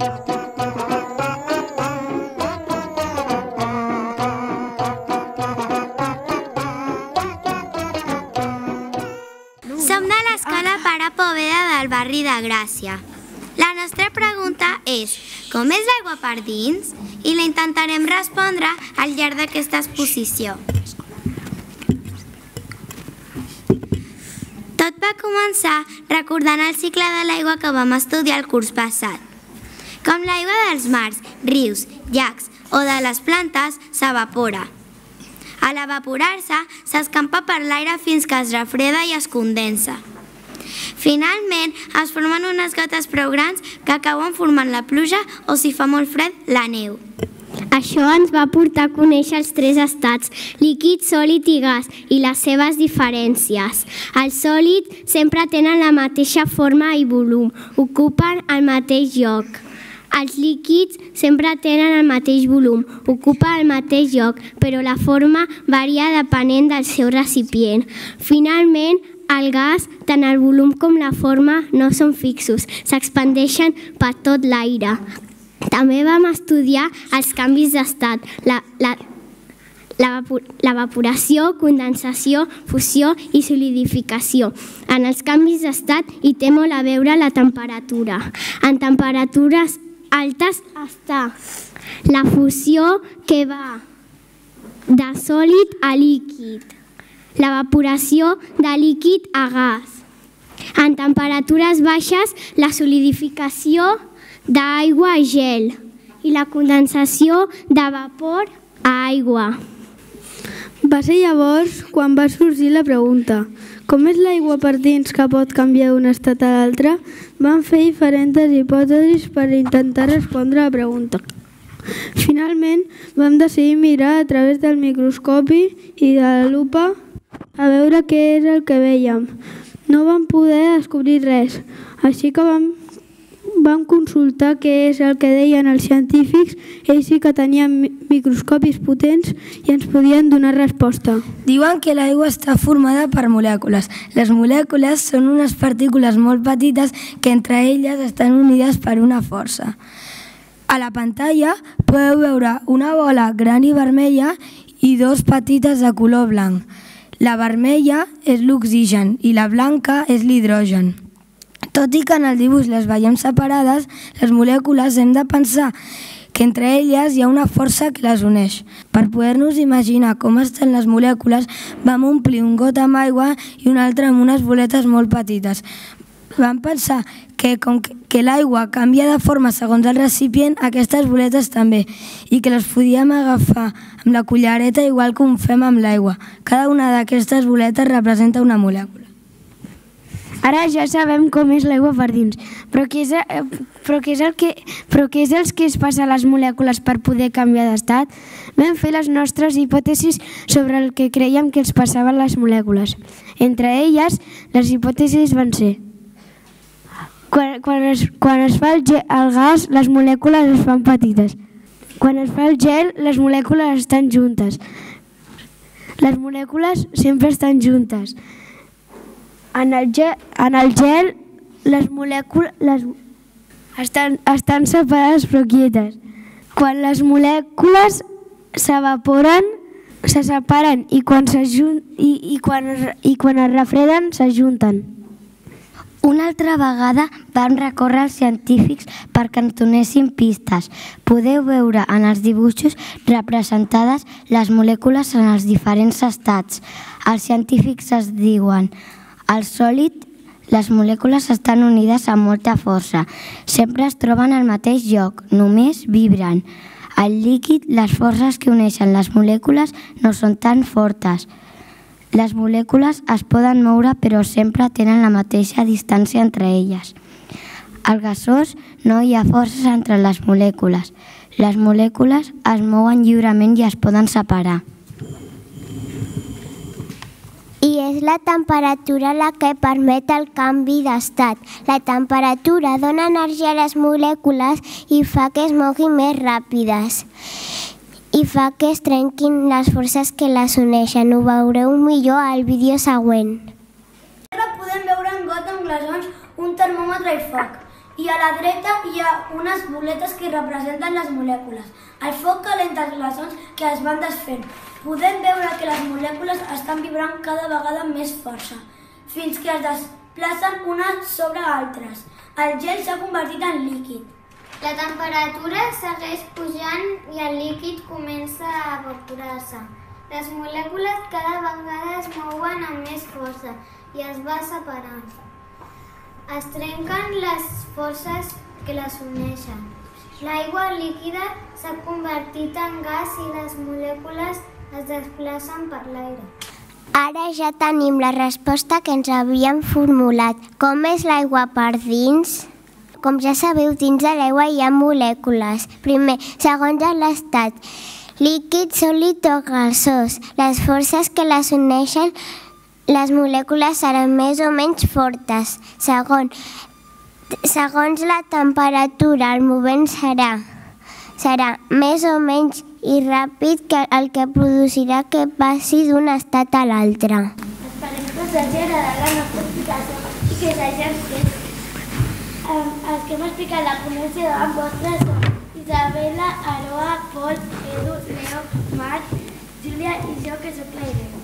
Som de l'escola Pare Poveda del barri de Gràcia. La nostra pregunta és: com és l'aigua per dins? I la intentarem respondre al llarg d'aquesta exposició. Tot va començar recordant el cicle de l'aigua que vam estudiar el curs passat. Com l'aigua dels mars, rius, llacs o de les plantes s'evapora. A l'evaporar-se, s'escampa per l'aire fins que es refreda i es condensa. Finalment, es formen unes gotes prou grans que acaben formant la pluja o, si fa molt fred, la neu. Això ens va portar a conèixer els tres estats, líquid, sòlid i gas, i les seves diferències. Els sòlids sempre tenen la mateixa forma i volum, ocupen el mateix lloc. Els líquids sempre tenen el mateix volum, ocupen el mateix lloc, però la forma varia depenent del seu recipient. Finalment, el gas, tant el volum com la forma, no són fixos, s'expandeixen per tot l'aire. També vam estudiar els canvis d'estat, l'evaporació, condensació, fusió i solidificació. En els canvis d'estat hi té molt a veure la temperatura. En temperatures altes està la fusió, que va de sòlid a líquid, l'evaporació de líquid a gas. En temperatures baixes, la solidificació d'aigua a gel i la condensació de vapor a aigua. Va ser llavors quan va sorgir la pregunta: com és l'aigua per dins que pot canviar d'un estat a l'altre? Vam fer diferents hipòtesis per intentar respondre a la pregunta. Finalment, vam decidir mirar a través del microscopi i de la lupa a veure què és el que vèiem. No vam poder descobrir res, així que vam consultar què és el que deien els científics. Ells sí que tenien microscopis potents i ens podien donar resposta. Diuen que l'aigua està formada per molècules. Les molècules són unes partícules molt petites que entre elles estan unides per una força. A la pantalla podeu veure una bola gran i vermella i dos petites de color blanc. La vermella és l'oxigen i la blanca és l'hidrogen. Tot i que en el dibuix les veiem separades, les molècules hem de pensar que entre elles hi ha una força que les uneix. Per poder-nos imaginar com estan les molècules, vam omplir un got amb aigua i un altre amb unes boletes molt petites. Vam pensar que com que l'aigua canvia de forma segons el recipient, aquestes boletes també, i que les podíem agafar amb la cullereta igual que ho fem amb l'aigua. Cada una d'aquestes boletes representa una molècula. Ara ja sabem com és l'aigua per dins, però què és el que es passa a les molècules per poder canviar d'estat? Vam fer les nostres hipòtesis sobre el que creiem que els passava a les molècules. Entre elles, les hipòtesis van ser: quan es fa el gas, les molècules es fan petites. Quan es fa el gel, les molècules estan juntes. Les molècules sempre estan juntes. En el gel, les molècules estan separades però quietes. Quan les molècules s'evaporen, se separen i quan es refreden, s'ajunten. Una altra vegada van recórrer els científics perquè ens donessin pistes. Podeu veure en els dibuixos representades les molècules en els diferents estats. Els científics es diuen: al sòlid, les molècules estan unides amb molta força. Sempre es troben al mateix lloc, només vibren. Al líquid, les forces que uneixen les molècules no són tan fortes. Les molècules es poden moure però sempre tenen la mateixa distància entre elles. Al gasós no hi ha forces entre les molècules. Les molècules es mouen lliurement i es poden separar. I és la temperatura la que permet el canvi d'estat. La temperatura dona energia a les molècules i fa que es moguin més ràpides. I fa que es trenquin les forces que les uneixen. Ho veureu millor al vídeo següent. Podem veure en got amb glaçons, un termòmetre i foc. I a la dreta hi ha unes boletes que representen les molècules. El foc calenta els glaçons que es van desfent. Podem veure que les molècules estan vibrant cada vegada amb més força, fins que es desplacen unes sobre altres. El gel s'ha convertit en líquid. La temperatura segueix pujant i el líquid comença a evaporar-se. Les molècules cada vegada es mouen amb més força i es va separant. Es trenquen les forces que les uneixen. L'aigua líquida s'ha convertit en gas i les molècules es desplacen per l'aire. Ara ja tenim la resposta que ens havíem formulat. Com és l'aigua per dins? Com ja sabeu, dins de l'aigua hi ha molècules. Primer, segons l'estat, líquid, sòlid o gasós. Les forces que les uneixen, les molècules seran més o menys fortes. Segons la temperatura, el moviment serà més o menys i ràpid, el que produirà que passi d'un estat a l'altre. Esperem que us hagi agradat la nostra explicació i que us hagi entès. Els que hem explicat la connexió amb vostres són Isabela, Aroa, Pol, Edu, Leo, Marc, Júlia i jo, que soc la Irene.